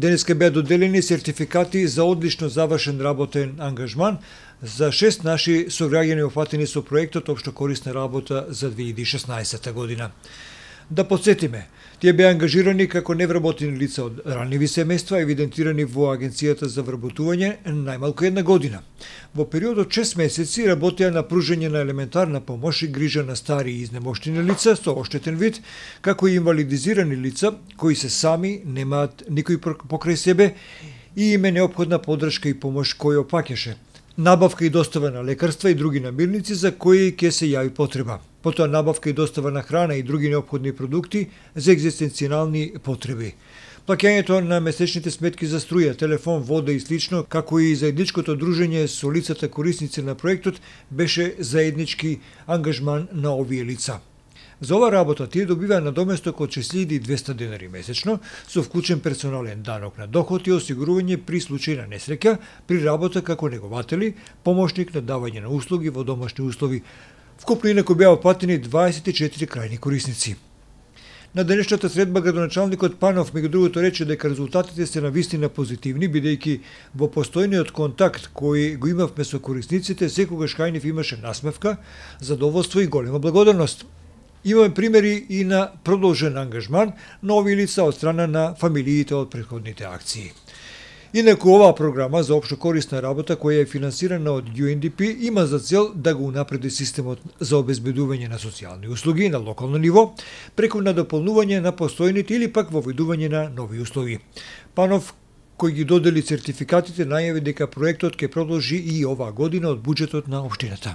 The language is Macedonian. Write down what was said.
Денеска беа доделени сертификати за одлично завршен работен ангажман за 6 наши сограѓани опфатени со проектот Општо корисна работа за 2016 година. Да подсетиме, тие беа ангажирани како невработени лица од ранливи семејства, евидентирани во Агенцијата за вработување најмалку една година. Во период од 6 месеци работеа на пружање на елементарна помош и грижа на стари и изнемоштени лица со оштетен вид, како и инвалидизирани лица кои се сами, немаат никој покрај себе и им е неопходна поддршка и помош која опаќаше. Набавка и достава на лекарства и други намирници за кои ќе се јави потреба. Потоа набавка и достава на храна и други неопходни продукти за екзистенцијални потреби. Плаќањето на месечните сметки за струја, телефон, вода и слично, како и заедничкото дружење со лицата корисници на проектот беше заеднички ангажман на овие лица. За ова работа тие добиваа надоместок од 6200 денари месечно, со вклучен персонален данок на доход и осигурување при случај на несреќа, при работа како негователи, помошник на давање на услуги во домашни услови. Вкупно инаку беа опфатени 24 крајни корисници. На денешната средба градоначалникот Панов меѓу другото рече дека резултатите се навистина позитивни, бидејќи во постојниот контакт кој го имавме со корисниците, секогаш кај нив имаше насмевка, задоволство и голема благодарност. Имаме примери и на продолжен ангажман на овие лица од страна на фамилиите од претходните акции. Инаку оваа програма за општо корисна работа, која е финансирана од UNDP, има за цел да го унапреди системот за обезбедување на социјални услуги на локално ниво, преку надополнување на постојните или пак воведување на нови услови. Панов, кој ги додели сертификатите, најави дека проектот ќе продолжи и оваа година од буџетот на општината.